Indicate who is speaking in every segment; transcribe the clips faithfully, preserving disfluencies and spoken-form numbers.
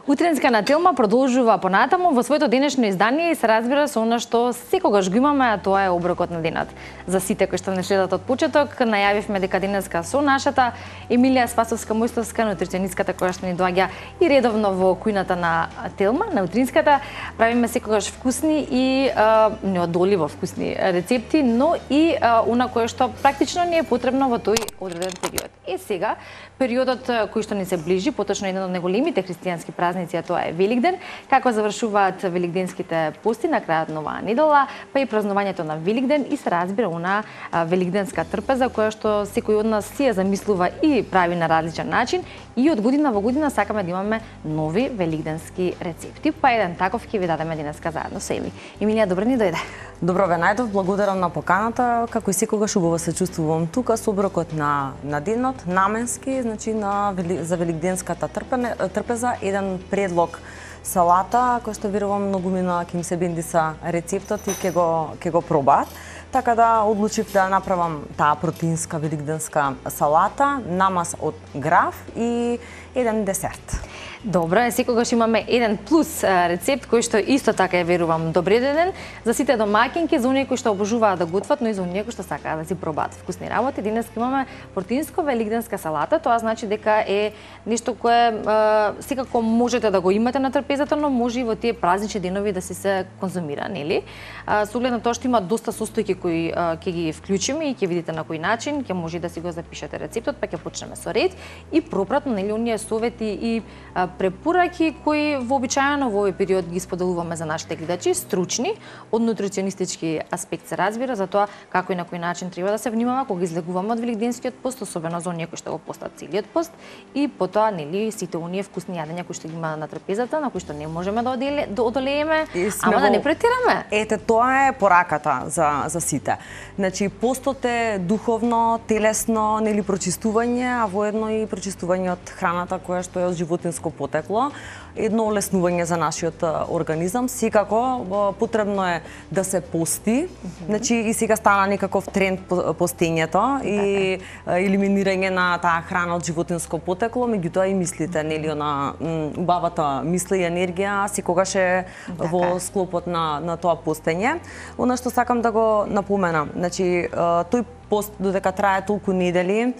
Speaker 1: Утринска на Телма продолжува понатаму во своето денешно издание и се разбира со она што секогаш го имаме, а тоа е оброкот на денот. За сите кои што не следат од почеток, најавивме дека денеска со нашата Емилија Спасовска-Мојстовска, нутриционистката која што ни доаѓа и редовно во кујната на Телма, на Утринската, правиме секогаш вкусни и а, неодоливо вкусни рецепти, но и а, она кое што практично не е потребно во тој одреден период. И сега, периодот кој што ни се ближи, поточно еден од најголемите христијански празници, а тоа е Великден, како завршуваат великденските пости на крајот на оваа недела, па и празнувањето на Великден и се разбира она великденска трпеза која што секој од нас си ја замислува и прави на различен начин и од година во година сакаме да имаме нови великденски рецепти. Па еден таков ќе ви дадеме денеска заедно со Еми. Емилија, добро ни дојде.
Speaker 2: Добро ве најдов, благодарам на поканата. Како и секогаш убаво се чувствувам тука со оброкот на на денот, наменски, значи на за великденската трпене, трпеза, еден предлог салата, кој што верувам многумина ќе им се бендиса рецептот и ќе го ќе го пробаат. Така да одлучив да направам таа протеинска великденска салата, намаз од граф и еден десерт.
Speaker 1: Добро, секогаш имаме еден плюс рецепт кој што исто така е верувам добреден за сите домаќинки, за оние кои што обожуваат да готват, но и за оние кои што сакаат да си пробаат вкусни работи. Денес имаме протеинско великденска салата, тоа значи дека е нешто кое е, секако можете да го имате на трпезата, но може и во тие празнични денови да се се конзумира, нели? Со оглед на тоа што има доста состојки кои ќе ги вклучиме и ќе видите на кој начин, ќе може да си го запишете рецептот, па ќе почнеме со ред и пропратно, нели, оние совети и препораки кои вообичаено во овој период ги споделуваме за нашите гледачи, стручни, од нутриционистички аспект се разбира, за тоа како и на кој начин треба да се внимава кога излегуваме од великденскиот пост, особено за оние кои што го постат целиот пост, и потоа, нели, сите оние вкусни јадења кои што ги има на трпезата, на кои што не можеме да, оделе, да одолееме, ама да не претираме.
Speaker 2: Ете, тоа е пораката за за сите. Значи, постот е духовно, телесно, нели, прочистување, а воедно и прочистување од храната која што е од животинско потекло, едно олеснување за нашиот организам. Секако потребно е да се пости. Значи и сега стана некаков тренд постењето и елиминирање на таа храна од животинско потекло, меѓутоа и мислите, нели, она убавата мисла и енергија секогаш е во склопот на на тоа постење. Она што сакам да го напоменам, значи тој пост додека трае толку недели,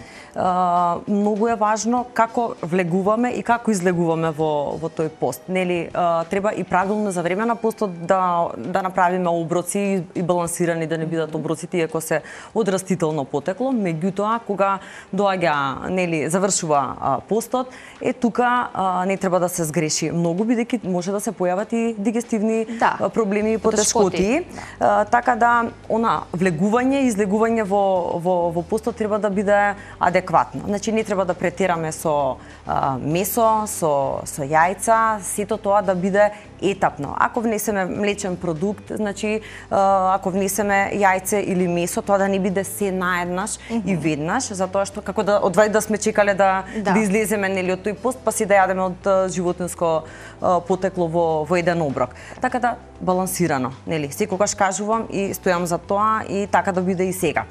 Speaker 2: многу е важно како влегуваме и како излегуваме во во тој пост. Нели, треба и правилно за време на постот да да направиме оброци и балансирани, да не бидат оброците иако се од растително потекло, меѓутоа кога доаѓа, нели, завршува постот, е тука не треба да се сгреши многу, бидејќи може да се појават и дигестивни да, проблеми и потешкоти. Да. Така да она влегување и излегување во во во постот треба да биде адекватно. Значи не треба да претераме со а, месо, со со јајца, сето тоа да биде етапно. Ако внесеме млечен продукт, значи а, ако внесеме јајце или месо, тоа да не биде се наеднаш mm -hmm. и веднаш, затоа што како да одвај да сме чекале да да, да излеземе, нели, од тој пост, па си да јадеме од животинско а, потекло во во еден оброк. Така да балансирано, нели? Секогаш кажувам и стојам за тоа и така да биде и сега.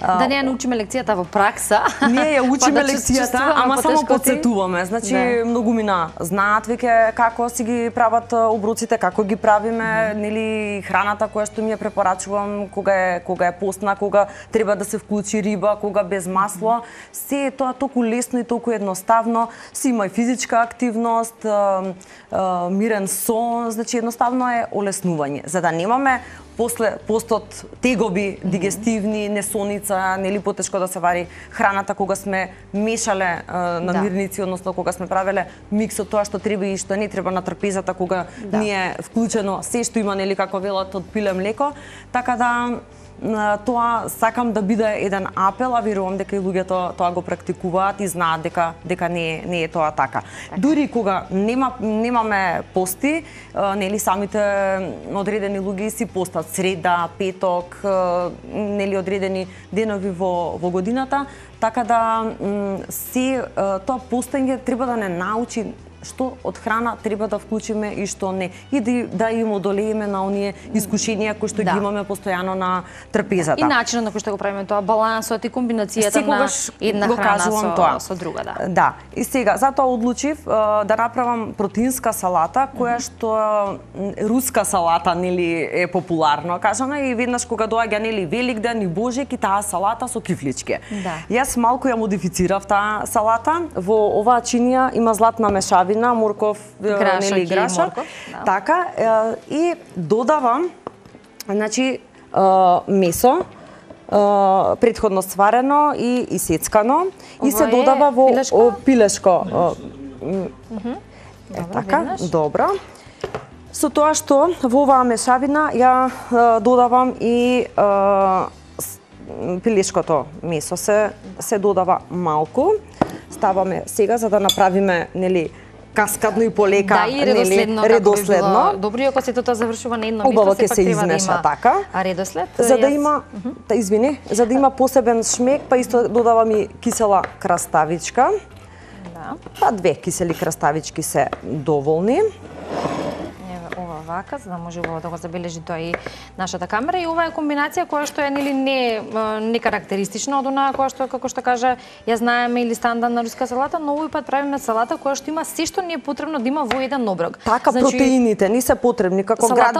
Speaker 1: Да не ја научиме лекцијата во пракса.
Speaker 2: Ние ја учиме лекцијата, ама само потсетуваме. Значи, да, многумина знаат веќе како си ги прават оброците, како ги правиме, mm -hmm. нели, храната која што ми ја препорачувам, кога е кога е постна, кога треба да се вклучи риба, кога без масло. Mm -hmm. Се е тоа толку лесно и толку едноставно. Си има и физичка активност, а, а, мирен сон, значи едноставно е олеснување. За да немаме после постот тегоби, дигестивни, несоница, нели, потешко да се вари храната кога сме мешале а, намирници, да, односно кога сме правеле микс од тоа што треба и што не треба на трпезата, кога да, ни е вклучено се што има, нели, како велат од пиле млеко. Така да тоа сакам да биде еден апел, а верувам дека и луѓето тоа го практикуваат и знаат дека дека не не е тоа така. така. Дури кога нема немаме пости, нели, самите одредени луѓе си постат среда, петок, нели, одредени денови во во годината, така да се тоа постење треба да не научи што од храна треба да вклучиме и што не. И да, да им одолееме на оние искушенија кои што да. ги имаме постојано на трпезата.
Speaker 1: И начинот на кој што го правиме тоа, балансот и комбинацијата
Speaker 2: секогаш
Speaker 1: на една
Speaker 2: го
Speaker 1: храна
Speaker 2: кажувам
Speaker 1: со,
Speaker 2: тоа.
Speaker 1: со друга, да.
Speaker 2: Да. И сега, затоа одлучив uh, да направам протеинска салата, која што руска салата, нели, е популарно кажана, и веднаш кога доаѓа, нели, Великден и Божек, и таа салата со кифлички.
Speaker 1: Да.
Speaker 2: Јас малку ја модифицирав таа салата. Во оваа чинија има златна мешавина, морков,
Speaker 1: грашак,
Speaker 2: нели, грашак.
Speaker 1: морков, да.
Speaker 2: Така, и додавам, значи, месо, Uh, предходно сварено и исецкано, и се додава во
Speaker 1: пилешко.
Speaker 2: О, пилешко. Uh, mm,
Speaker 1: uh-huh.
Speaker 2: Е,
Speaker 1: Добро,
Speaker 2: така,
Speaker 1: веднаш.
Speaker 2: добро. Со тоа што во оваа мешавина ја uh, додавам и uh, пилешкото месо се се додава малку. Ставаме сега за да направиме, нели, каскадно и полека,
Speaker 1: да, и редоследно,
Speaker 2: нели, редоследно.
Speaker 1: Добро, ако сето тоа завршува на едно
Speaker 2: Убаво
Speaker 1: место,
Speaker 2: ќе се
Speaker 1: треба да
Speaker 2: измеша
Speaker 1: има
Speaker 2: така.
Speaker 1: редослед.
Speaker 2: За да
Speaker 1: Јас...
Speaker 2: има, та извини, за да има посебен шмек, па исто додавам и кисела краставичка.
Speaker 1: Да.
Speaker 2: Па две кисели краставички се доволни.
Speaker 1: Ова вака, за да може убаво да го забележи тоа и нашата камера, и ова е комбинација која што е, нели, не не карактеристична од онаа која што, како што кажа, ја знаеме, или стандардна руска салата, но овој пат правиме салата која што има се што ни е потребно да има во еден оброк.
Speaker 2: Така, значи, протеините не се потребни, како град,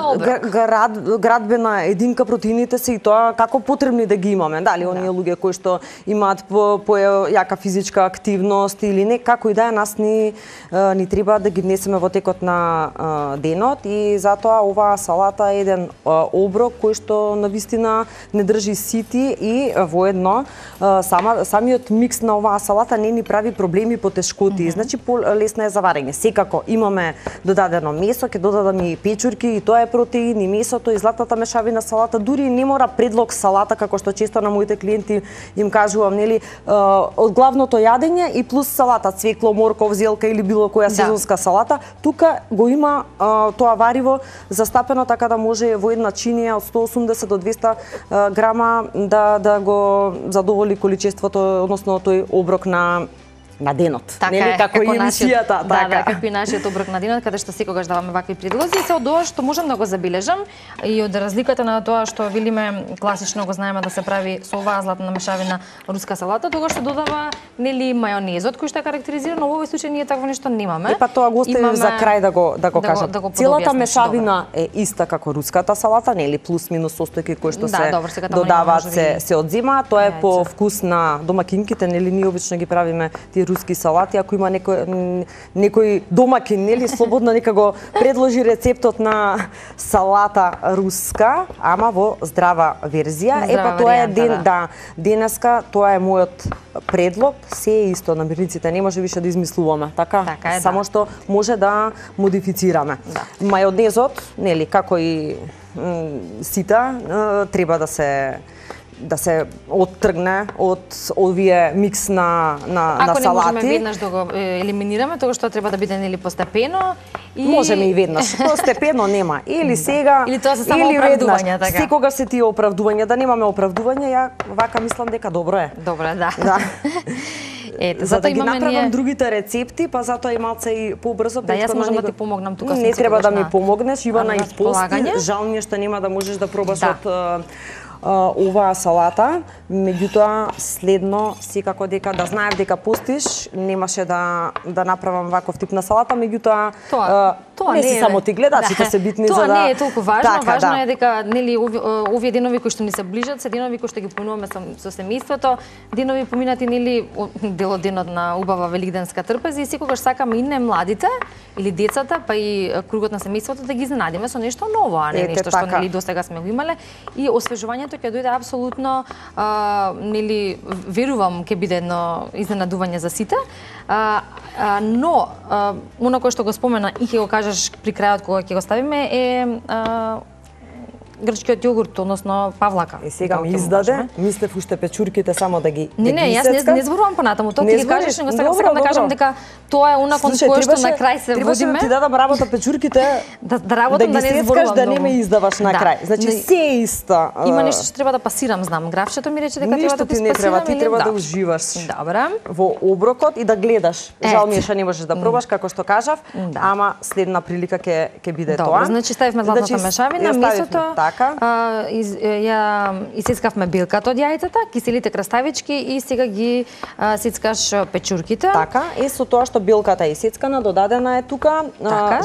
Speaker 2: град, градбена единка, протеините се и тоа како потребни да ги имаме. Дали оние да. луѓе кои што имаат по, по јака физичка активност или не, како и да е, нас ни ни треба да ги внесеме во текот на денот, и затоа оваа салата е еден оброк кој што навистина не држи сити, и воедно сама самиот микс на оваа салата не ни прави проблеми по тешкоти. Mm-hmm. Значи полесно е за варење. Секако имаме додадено месо, ќе додадаме и печурки, и тоа е протеин, и месото, и златната мешавина салата. Дури не мора предлог салата, како што често на моите клиенти им кажувам, нели, од главното јадење и плюс салата, цвекло, морков, зелка или било која сезонска да. салата. Тука го има тоа вариво застапено, така да може во една чинија од сто осумдесет до двесте грама да да го задоволи количеството, односно тој оброк на на денот.
Speaker 1: Така
Speaker 2: нели,
Speaker 1: е,
Speaker 2: како, како и емисијата,
Speaker 1: да,
Speaker 2: така.
Speaker 1: Да, како и нашиот оброк на денот, каде што секогаш даваме вакви предлози, и се од тоа што можам да го забележам, и од разликата на тоа што велиме класично го знаеме да се прави со оваа златна мешавина руска салата, тогаш што додава, нели, мајонезот кој што е карактеризиран, но во овој случај ние такво нешто немаме.
Speaker 2: Е, па тоа го оставив за крај да го да го
Speaker 1: да
Speaker 2: кажам.
Speaker 1: Го, да го
Speaker 2: Целата мешавина добро. е иста како руската салата, нели, плюс минус состојки кои што да, се добро, додаваат, се се одзема, тоа е по вкус на домакинките, нели, ние обично ги правиме тие руски салати. Ако има некој некој домакин, нели, слободно нека го предложи рецептот на салата руска, ама во здрава верзија. Е, па тоа е ден, да. да, денеска тоа е мојот предлог, се е исто, намирниците не може више да измислуваме, така?
Speaker 1: Така е,
Speaker 2: само
Speaker 1: да.
Speaker 2: што може да модифицираме. Да. Мајонезот, нели, како и сита, треба да се да се оттргне од овие микс на на
Speaker 1: Ако
Speaker 2: на салати.
Speaker 1: Ако не можеме веднаш да го елиминираме, тоа што треба да биде, нели, постепено, и
Speaker 2: можеме и веднаш. Постепено нема. Или сега,
Speaker 1: или тоа се само
Speaker 2: или
Speaker 1: оправдувања,
Speaker 2: веднаш.
Speaker 1: така.
Speaker 2: Секогаш се тие оправдувања, да немаме оправдувања, ја вака мислам дека добро е.
Speaker 1: Добро е, да.
Speaker 2: Да.
Speaker 1: Ете,
Speaker 2: за да ги направам
Speaker 1: ние...
Speaker 2: другите рецепти, па затоа и малце и побрзо.
Speaker 1: Да, јас можам да ти помогнам тука.
Speaker 2: Не треба да ми помогнеш, Ивана, и пости. Жал ми е што нема да можеш да пробаш да. од Uh, оваа салата, меѓутоа следно секако дека да знаев дека постиш, немаше да да направам ваков тип на салата, меѓутоа
Speaker 1: тоа,
Speaker 2: uh,
Speaker 1: тоа
Speaker 2: не
Speaker 1: не
Speaker 2: се
Speaker 1: е,
Speaker 2: само ти гледачите
Speaker 1: да.
Speaker 2: се битни
Speaker 1: тоа
Speaker 2: за да.
Speaker 1: Тоа не е толку важно,
Speaker 2: така,
Speaker 1: важно
Speaker 2: да.
Speaker 1: е дека, нели, ови, овие денови кои што ни се ближат, се денови кои што ги поминуваме со, со семејството, денови поминати, нели, дел од денот на убава великденска трпеза, и секогаш сакаме и не младите или децата, па и кругот на семејството да ги изненадиме со нешто ново, а не Ете, нешто така. што, нели, досега сме го имале, и освежувањето ќе дојде апсолутно, а, нели, верувам ќе биде едно изненадување за сите. А, а, но а, оно кое што го спомена и ќе го кажеш при крајот кога ќе го ставиме е а, грчкиот јогурт, односно павлака.
Speaker 2: И сега ми издаде, мислев уште печурките само да ги
Speaker 1: Не, не, јас не, не зборувам понатаму, тоа ти ги кажеш, него сега сакам да кажам дека тоа е она кон кое што на крај се
Speaker 2: водиме. Требаше да ти дадам работа печурките,
Speaker 1: да, да работам да,
Speaker 2: да
Speaker 1: не зборувам.
Speaker 2: Да не ме издаваш на крај. Значи се исто.
Speaker 1: Има нешто што треба да пасирам, знам. Графчето ми рече дека треба да го спасирам.
Speaker 2: Ништо ти не треба, ти треба да уживаш.
Speaker 1: Добре.
Speaker 2: Во оброкот и да гледаш. Жал ми е што не можеш да пробаш како што кажав, ама следна прилика ќе ќе биде тоа.
Speaker 1: Добро, значи ставивме златната мешавина, месото,
Speaker 2: така.
Speaker 1: Ја исецкавме билката од јајцата, киселите краставички и сега ги сецкаш печурките.
Speaker 2: Така, и со тоа што билката е исецкана, додадена е тука,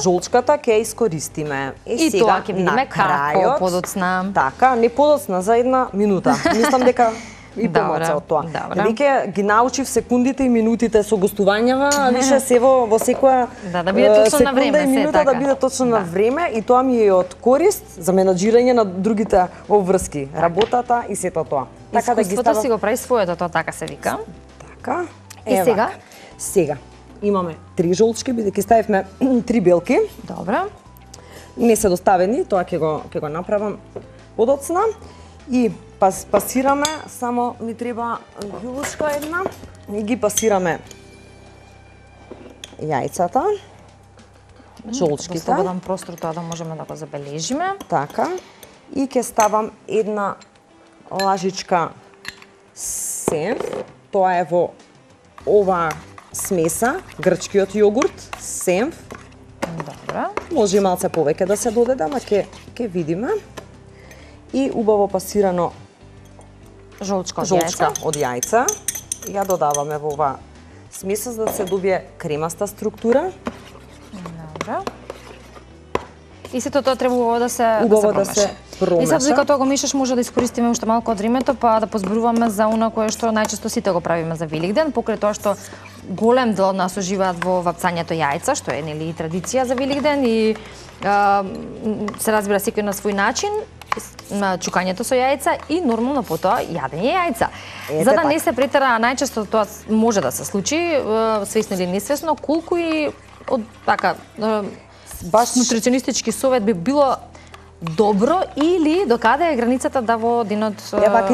Speaker 2: жолчката ќе искористиме.
Speaker 1: И тоа ќе видиме како подоцна.
Speaker 2: Така, не подоцна за една минута. Мислам дека и помоца од тоа. Веќе ги научив секундите и минутите со гостувањава, а више се во во секоја
Speaker 1: да, да биде точно на време,
Speaker 2: и минута да биде точно на време и тоа ми е од корист за менаџирање на другите обврски, работата и сето тоа.
Speaker 1: Така да ги ставам... си го прави своето, тоа така се вика.
Speaker 2: Така.
Speaker 1: И сега?
Speaker 2: Сега имаме три жолчки, бидејќи ставивме три белки.
Speaker 1: Добро.
Speaker 2: Не се доставени, тоа ќе го ќе го направам подоцна. И пас, пасираме, само ми треба јулушка една, и ги пасираме јајцата, жолчките.
Speaker 1: Да слободен простор тоа да можеме да го забележиме.
Speaker 2: Така, и ќе ставам една лажичка сенф, тоа е во ова смеса, грчкиот јогурт, сенф.
Speaker 1: Добро.
Speaker 2: Може и малце повеќе да се додаде, ама ќе ќе видиме. И убаво пасирано
Speaker 1: жолчка од
Speaker 2: жолчка
Speaker 1: јајца.
Speaker 2: од јајца. Ја додаваме во ова смеса за да се добие кремаста структура.
Speaker 1: Добро. И сето тоа треба убаво да се
Speaker 2: убаво
Speaker 1: да се
Speaker 2: да се промеша.
Speaker 1: И сега додека тоа го мешаш може да искористиме уште малку од времето, па да позборуваме за она кое што најчесто сите го правиме за Великден, покрај тоа што голем дел од нас уживаат во вапцањето јајца, што е нели традиција за Великден и а, се разбира секој на свој начин, на чукањето со јајца и нормално потоа јадење јајца.
Speaker 2: Ете,
Speaker 1: За да
Speaker 2: так.
Speaker 1: не се претера, најчесто тоа може да се случи, свесно или несвесно, колку и од така баш нутриционистички совет би било добро или докаде е границата да во денот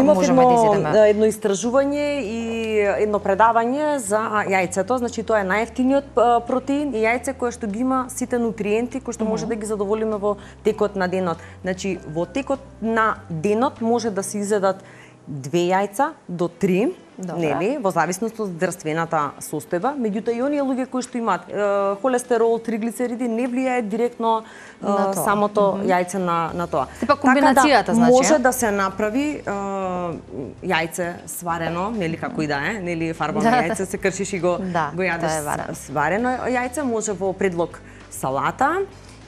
Speaker 1: можеме да изедеме?
Speaker 2: Едно истражување и едно предавање за јајцето, значи тоа е најевтиниот протеин и јајце кое што ги има сите нутриенти кои што може да ги задоволиме во текот на денот. Значи во текот на денот може да се изедат две јајца до три, нели, во зависност од здравствената состојба, меѓутоа и оние луѓе кои што имаат е, холестерол, триглицериди не влијае директно е, самото mm -hmm. јајце на на тоа.
Speaker 1: Сепак комбинацијата,
Speaker 2: така да,
Speaker 1: значи,
Speaker 2: може да се направи е, јајце сварено, нели како и да е, нели фарбано јајце се кршиш и го
Speaker 1: да,
Speaker 2: го јадеш сварено јајце, може во предлог салата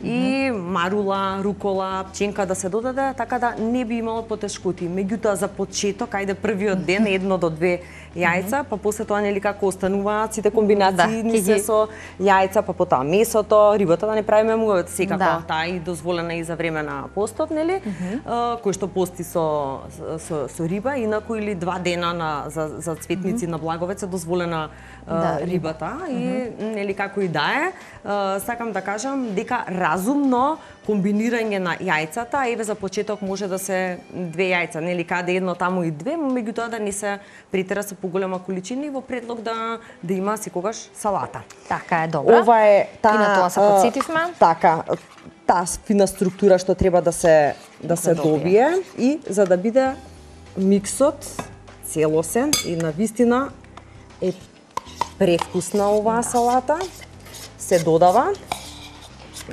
Speaker 2: и марула, рукола, пченка да се додаде, така да не би имало потешкоти. Меѓутоа за почеток, ајде првиот ден едно до две јајца, па после тоа нели како остануваат сите комбинации да, се со јајца, па потоа месото, рибата да не правиме муавет секако, да. Таа и дозволена и за време на постот, нели? Mm -hmm. кој што пости со со со риба, инаку или два дена на за за цветници mm -hmm. на Благовец е дозволена да, рибата mm -hmm. и нели како и да е, сакам да кажам дека разумно комбинирање на јајцата, еве за почеток може да се две јајца, нели каде едно таму и две, меѓутоа да не се претера со поголема количина и во предлог да да има секогаш салата.
Speaker 1: Така е, добро.
Speaker 2: Ова е таа,
Speaker 1: и на тоа се подсетивме.
Speaker 2: Така, таа фина структура што треба да се да се добие. добие и за да биде миксот целосен и навистина е превкусна оваа да. салата, се додава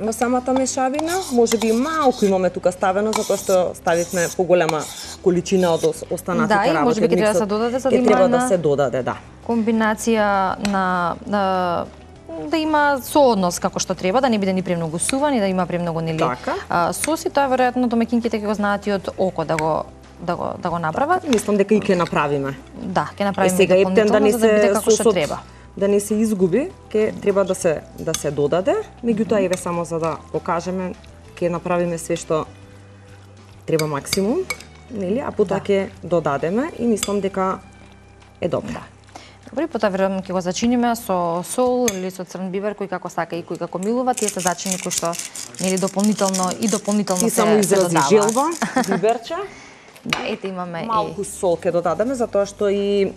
Speaker 2: во самата мешавина, може би малку имаме тука ставено затоа што ставивме поголема количина од останатите работи.
Speaker 1: Да, и може би ќе треба да се додаде за да има
Speaker 2: треба да се додаде, да.
Speaker 1: Комбинација на, на да има сооднос како што треба, да не биде ни премногу суван и да има премногу нели така. соси, тоа веројатно домаќинките ќе го знаат и од око да го да го да го направат.
Speaker 2: Мислам дека и ќе направиме.
Speaker 1: Да, ќе направиме.
Speaker 2: Е, сега ептен да не се
Speaker 1: да биде како што треба.
Speaker 2: Да не се изгуби, ќе треба да се да се додаде. Меѓутоа еве само за да покажеме, ќе направиме све што треба максимум, нели, а потоа ќе да. додадеме и мислам дека е добро. Да.
Speaker 1: Добри, потоа веројатно ќе го зачиниме со сол или со црн бибер, кој како сака и кој како милува. Тие се зачини кои што нели дополнително и дополнително
Speaker 2: и
Speaker 1: се
Speaker 2: само
Speaker 1: се
Speaker 2: изрази
Speaker 1: додава.
Speaker 2: желба, биберче.
Speaker 1: Да, ете имаме
Speaker 2: Малку
Speaker 1: и
Speaker 2: сол ќе додадеме затоа што и е,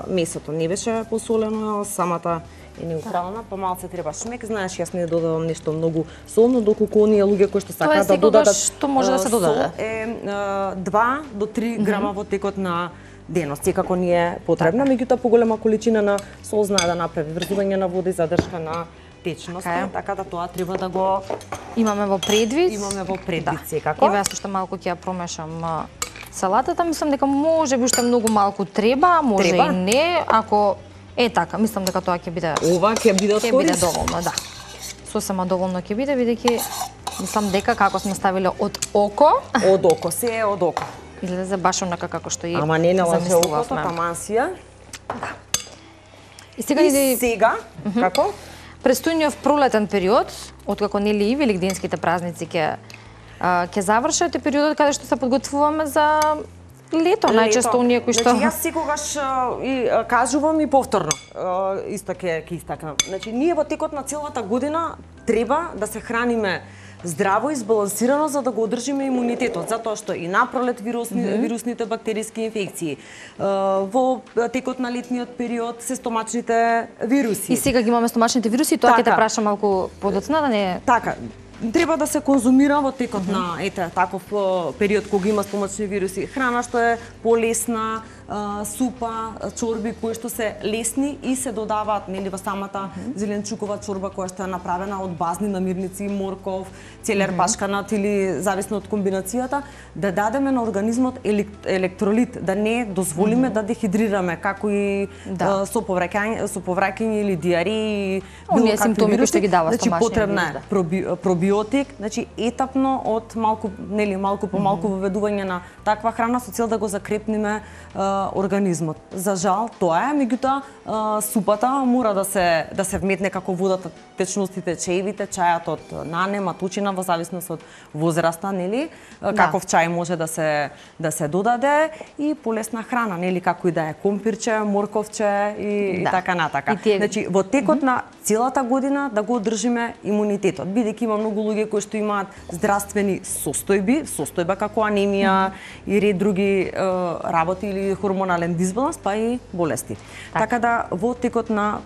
Speaker 2: месото не беше посолено, самата е неутрална, па малце треба шмек. Знаеш, јас не додавам нешто многу солно, доколку оние луѓе кои што сакаат да додадат
Speaker 1: што може да се додаде.
Speaker 2: сол е два до три грама во текот на денот. Секако ни е потребна, меѓутоа поголема количина на сол знае да направи врзување на вода и задршка на течност,
Speaker 1: Така е.
Speaker 2: така да тоа треба да го
Speaker 1: имаме во предвид.
Speaker 2: имаме во предвид
Speaker 1: Да.
Speaker 2: секако.
Speaker 1: Еве јас уште малку ќе ја промешам а, салатата, мислам дека може би уште многу малку треба, може
Speaker 2: Треба?
Speaker 1: и не, ако е така, мислам дека тоа ќе биде
Speaker 2: Ова ќе биде од
Speaker 1: ќе биде
Speaker 2: корис.
Speaker 1: доволно, да. Сосема доволно ќе биде, бидејќи мислам дека како сме ставиле од око,
Speaker 2: Од око, се е од око.
Speaker 1: излезе баш онака како што и
Speaker 2: Ама не налаже окото,
Speaker 1: замислувавме.
Speaker 2: таман си ја.
Speaker 1: И сега
Speaker 2: И
Speaker 1: иде
Speaker 2: сега, како?
Speaker 1: престојниот пролетен период, откако нели и великденските празници ќе а, ќе завршат, е периодот каде што се подготвуваме за лето, најчесто оние кои што
Speaker 2: Значи, јас секогаш а, и а, кажувам и повторно, а, исто ќе ќе истакнам. Значи, ние во текот на целата година треба да се храниме здраво и збалансирано за да го одржиме имунитетот, затоа што и напролет вирусни, mm -hmm. вирусните бактериски инфекции, а, во текот на летниот период се стомачните вируси.
Speaker 1: и сега ги имаме стомачните вируси, тоа ќе те
Speaker 2: Така.
Speaker 1: праша малку подоцна да не
Speaker 2: Така, треба да се конзумира во текот mm -hmm. на ете таков о, период кога има стомачни вируси, храна што е полесна, а, супа, чорби кои што се лесни и се додаваат нели во самата mm -hmm. зеленчукова чорба која што е направена од базни намирници, морков, целер, mm -hmm. пашканат или зависно од комбинацијата, да дадеме на организмот елек, електролит, да не дозволиме mm -hmm. да дехидрираме, како и
Speaker 1: Да.
Speaker 2: а, со повраќање, со повраќање или диареи,
Speaker 1: Оние симптоми кои што ги дава
Speaker 2: значи
Speaker 1: стомачниот
Speaker 2: потребна
Speaker 1: вирус,
Speaker 2: е
Speaker 1: да.
Speaker 2: проби, пробиотик, значи етапно од малку, нели, малку по малку воведување на таква храна со цел да го закрепниме а, организмот. За жал тоа е, меѓутоа а, супата мора да се да се вметне како водата, течностите, чаевите, чајот од нане, матучина во зависност од возраста, нели?
Speaker 1: Да.
Speaker 2: Каков чај може да се да се додаде и полесна храна, нели, како и да е компирче, морковче и,
Speaker 1: Да.
Speaker 2: и така натака.
Speaker 1: И тие-
Speaker 2: Значи во текот на целата година да го одржиме имунитетот, бидејќи има многу луѓе кои што имаат здравствени состојби, состојба како анемија и ред други е, работи или хормонален дисбаланс, па и болести.
Speaker 1: Така.
Speaker 2: Така да во текот на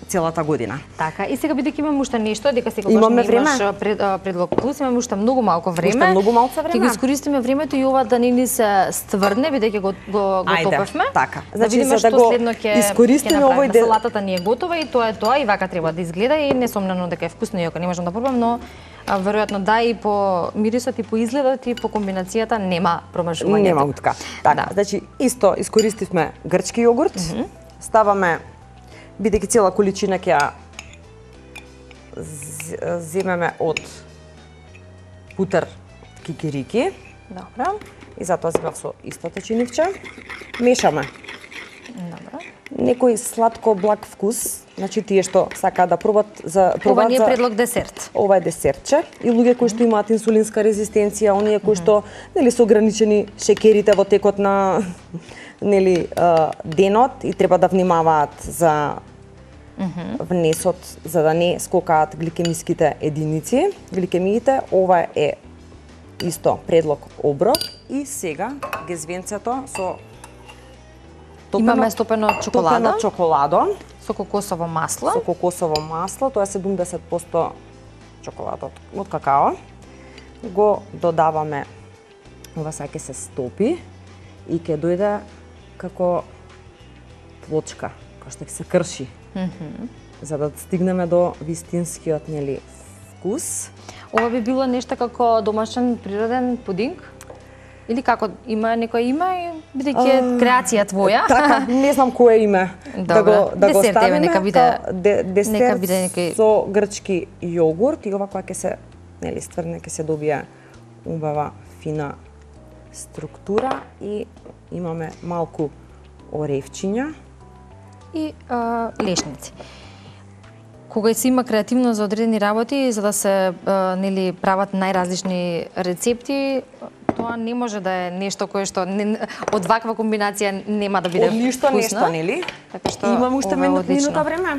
Speaker 2: целата година.
Speaker 1: Така, и сега бидејќи имаме уште нешто, дека сега
Speaker 2: Имаме
Speaker 1: имаш
Speaker 2: време?
Speaker 1: пред, а, предлог плюс, имаме уште многу малку време.
Speaker 2: Уште многу малку време.
Speaker 1: Ќе го искористиме времето и ова да не ни се стврне, бидејќи го го, го
Speaker 2: Ајде,
Speaker 1: топевме.
Speaker 2: така.
Speaker 1: Да
Speaker 2: Значи,
Speaker 1: видиме
Speaker 2: за да
Speaker 1: што
Speaker 2: го
Speaker 1: следно ќе
Speaker 2: искористиме
Speaker 1: ќе направиме.
Speaker 2: овој дел-
Speaker 1: Салатата ни е готова и тоа е тоа и вака треба да изгледа и несомнено дека е вкусно иако не можам да пробам, но а, веројатно да и по мирисот и по изгледот и по комбинацијата нема промажување.
Speaker 2: Нема утка. Така,
Speaker 1: Да.
Speaker 2: значи исто искористивме грчки јогурт. Mm -hmm. Ставаме, бидејќи цела количина ќе ја з- земеме од путер кикирики
Speaker 1: Добро.
Speaker 2: и затоа земав со исто течинивче. Мешаме.
Speaker 1: Добро.
Speaker 2: Некој сладко благ вкус, значи тие што сакаат да пробат за
Speaker 1: Ова
Speaker 2: пробат
Speaker 1: ни е
Speaker 2: за
Speaker 1: предлог десерт.
Speaker 2: ова е десертче и луѓе кои што имаат инсулинска резистенција, оние кои што нели се ограничени шекерите во текот на нели а, денот и треба да внимаваат за внесот за да не скокаат гликемиските единици, гликемиите. Ова е исто предлог оброк и сега гезвенцето со
Speaker 1: Имаме стопено чоколада.
Speaker 2: топено чоколадо
Speaker 1: Со кокосово масло.
Speaker 2: со кокосово масло, тоа е седумдесет проценти чоколада од, од какао. Го додаваме, ова сега ќе се стопи и ќе дојде како плочка, која што ќе се крши. Mm -hmm. За да стигнеме до вистинскиот нели вкус.
Speaker 1: Ова би било нешто како домашен природен пудинг? Или како има некој има и бидејќи е креација твоја?
Speaker 2: Така, не знам кое име да
Speaker 1: Добре.
Speaker 2: го да го
Speaker 1: Десерт, еве,
Speaker 2: ставиме.
Speaker 1: нека биде-
Speaker 2: Тоа де, десерт
Speaker 1: нека биде некој-
Speaker 2: со грчки јогурт и ова кога ќе се нели стврне ќе се добие убава фина структура и имаме малку оревчиња.
Speaker 1: И а, лешници. Кога се има креативност за одредени работи, за да се а, нели прават најразлични рецепти, тоа не може да е нешто кое што не, од ваква комбинација нема да биде
Speaker 2: Од ништо
Speaker 1: вкусно.
Speaker 2: нешто, нели?
Speaker 1: Така што
Speaker 2: Имам уште
Speaker 1: ова е
Speaker 2: минут,
Speaker 1: одлично.
Speaker 2: минута време?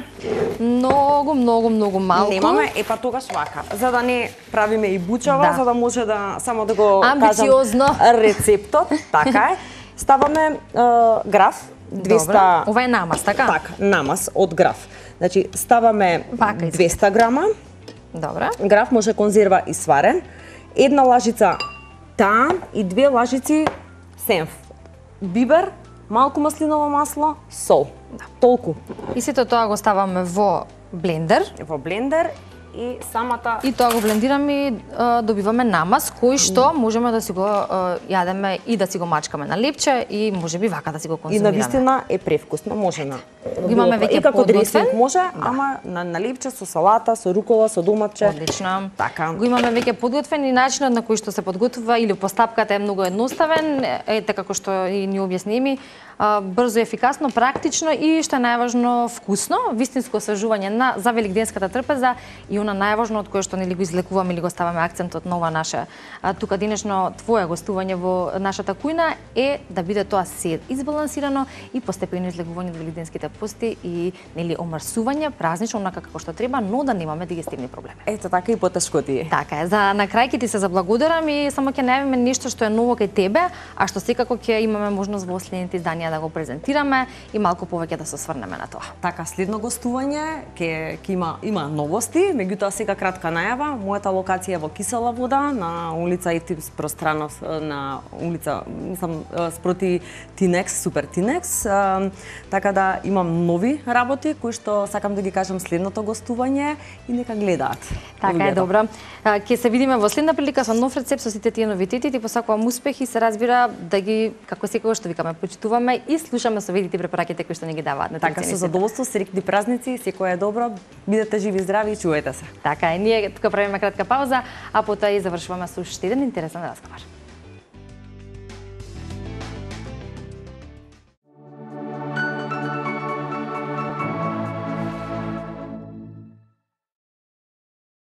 Speaker 1: Многу, многу, многу малку.
Speaker 2: Немаме, е па тогаш вака. За да не правиме и бучава,
Speaker 1: Да.
Speaker 2: за да може да само да го
Speaker 1: Амбициозно.
Speaker 2: кажам рецептот, така е. Ставаме е, граф двеста.
Speaker 1: Добро. Ова е намаз, така?
Speaker 2: Така, намаз од граф. Значи ставаме
Speaker 1: Вака
Speaker 2: двеста грама.
Speaker 1: Добро.
Speaker 2: Граф може конзерва и сварен. Една лажица таам и две лажици сенф. Бибер, малку маслиново масло, сол. Да. Толку.
Speaker 1: И сето тоа го ставаме во блендер.
Speaker 2: Во блендер и самата
Speaker 1: И тоа го блендираме и а, добиваме намаз, кој што можеме да си го а, јадеме и да си го мачкаме на лепче и можеби вака да си го
Speaker 2: и
Speaker 1: конзумираме.
Speaker 2: на вистина е превкусно, може на.
Speaker 1: Имаме веќе
Speaker 2: и како
Speaker 1: подготвен.
Speaker 2: дресинг може, ама на, на лепче со салата, со рукола, со доматче.
Speaker 1: Одлично.
Speaker 2: Така.
Speaker 1: Го имаме веќе подготвен и начинот на кој што се подготвува или постапката е многу едноставен, ете како што и ни објасни ми, а, брзо, ефикасно, практично и што е најважно вкусно, вистинско освежување на за великденската трпеза и она најважно од кое што нели го излекуваме или го ставаме акцентот на ова наше а, тука денешно твое гостување во нашата кујна е да биде тоа се избалансирано и постепено излекување од великденските пости и нели омрсување празнично онака како што треба, но да немаме дигестивни проблеми.
Speaker 2: Ето така и потешко ти е.
Speaker 1: Така е. За на крај ќе ти се заблагодарам и само ќе најавиме нешто што е ново кај тебе, а што секако ќе имаме можност во следните изданија да го презентираме и малку повеќе да се осврнеме на тоа.
Speaker 2: Така, следно гостување ќе ќе има има новости, меѓутоа сега кратка најава. Мојата локација е во Кисела вода на улица Евтим Пространов, на улица, мислам, спроти Тинекс, Супер Тинекс. Така да имам нови работи кои што сакам да ги кажам следното гостување и нека гледаат.
Speaker 1: Така е, добро. Ќе се видиме во следна прилика со нов рецепт со сите тие новитети. Ти посакувам успех и се разбира да ги како секогаш што викаме почитуваме и слушаме советите и препораките кои што ни ги даваат на
Speaker 2: Така, со задоволство, среќни празници, секој е добро, бидете живи и здрави и чувајте се.
Speaker 1: Така е, ние тука правиме кратка пауза, а потоа и завршуваме со уште еден интересен разговор.